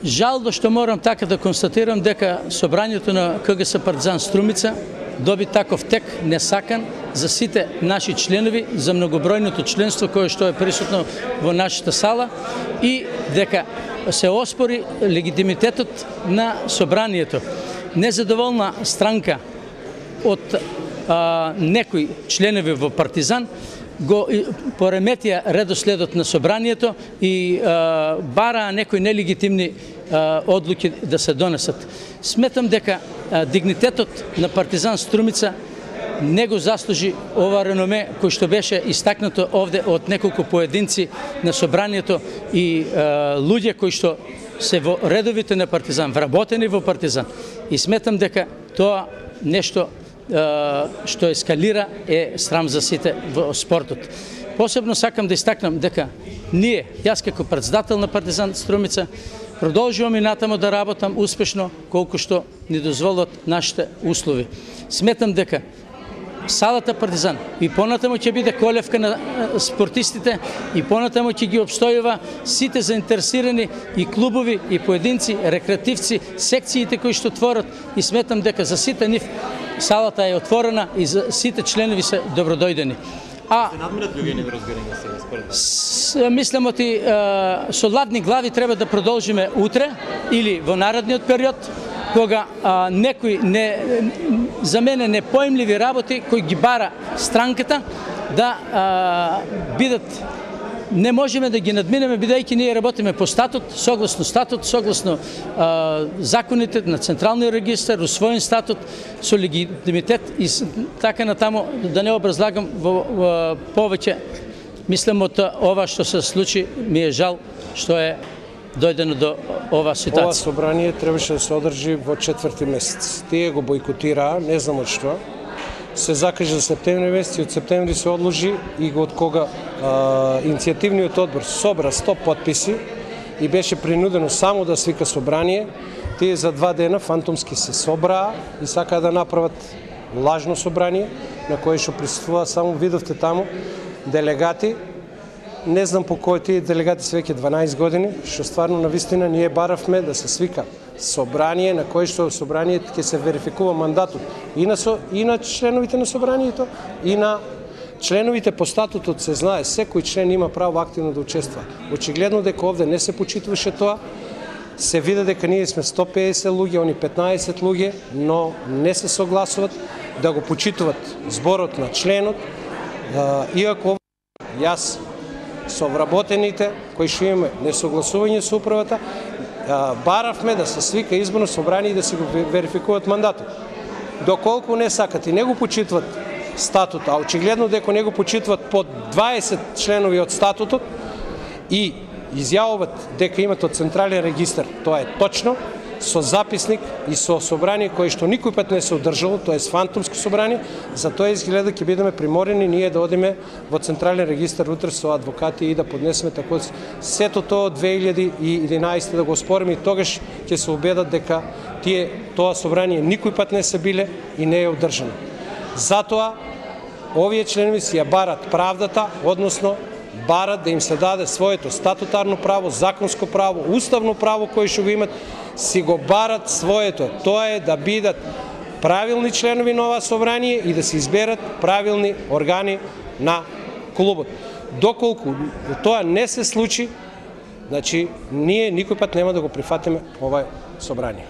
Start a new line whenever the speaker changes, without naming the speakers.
Жално што морам така да констатирам дека собранието на КГС Партизан Струмица доби таков тек несакан за сите наши членови, за многобројното членство кое што е присутно во нашата сала и дека се оспори легитимитетот на собранието. Незадоволна странка од некои членови во Партизан го пореметија редоследот на собранието и бараа некои нелегитимни одлуки да се донесат. Сметам дека дигнитетот на Партизан Струмица не го заслужи ова реноме кој што беше истакнато овде од неколку поединци на собранието и луѓе кои што се во редовите на Партизан, вработени во Партизан. И сметам дека тоа нешто што ескалира е срам за сите во спортот. Посебно сакам да истакнам дека ние, јас како претседател на Партизан Струмица, продолжувам и натаму да работам успешно колку што ни дозволат нашите услови. Сметам дека салата Партизан и понатаму ќе биде колевка на спортистите и понатаму ќе ги обстојува сите заинтересирани и клубови и поединци, рекреативци, секциите кои што творат и сметам дека за сите нив салата е отворена и за сите членови се добродојдени.
Се надмират луѓе неворазбирање сега според вас?
Мислам оти со ладни глави треба да продолжиме утре или во наредниот период кога некои за мене непоимливи работи кои ги бара странката да бидат. Не можеме да ги надминеме бидејќи ние работиме по статут, согласно законите на Централниот регистар, усвоен статут со легитимитет и така натаму, да не образлагам во повеќе. Мислам од ова што се случи, ми е жал што е дојдено до ова ситуација.
Ова собрание требаше да се одржи во 4-ти месец. Тие го бойкотираа, не знам од што. Се закаже за септември месец и од септември се одложи и од кога иницијативниот одбор собра 100 потписи и беше принудено само да свика собрание, тие за 2 дена фантомски се собраа и сакаа да направат лажно собрание на кое што присуствува само видовте таму делегати. Не знам по кој тие делегати се веќе 12 години, што стварно навистина ние баравме да се свика собрание на кое што собранието ќе се верификува мандатот и на членовите на собранието и на членовите по статутот. Се знае, секој член има право активно да учества. Очигледно дека овде не се почитуваше тоа, се види дека ние сме 150 луѓе, они 15 луѓе, но не се согласуват да го почитуват зборот на членот, иако јас со вработените кои што имаме несогласување со управата, баравме да се свика изборно собрание и да се го верификуваат мандатот. Доколку не сакат и не го почитват статут, а очигледно дека не го почитват под 20 членови од статутот и изјавуваат дека имат од Централен регистар, тоа е точно, со записник и со собрание кое што никој пат не се одржало, тоа е фантомско собрание, затоа изгледа ќе бидеме приморени ние да одиме во Централен регистар утре со адвокати и да поднесеме тако сето тоа од 2011 да го спориме и тогаш ќе се убедат дека тоа собрание никој пат не се биле и не е одржано. Затоа овие членови си ја барат правдата, односно барат да им се даде своето статутарно право, законско право, уставно право кое што го имат, си го барат своето. Тоа е да бидат правилни членови на ова собрание и да се изберат правилни органи на клубот. Доколку тоа не се случи, значи ние никој пат нема да го прифатиме ова собрание.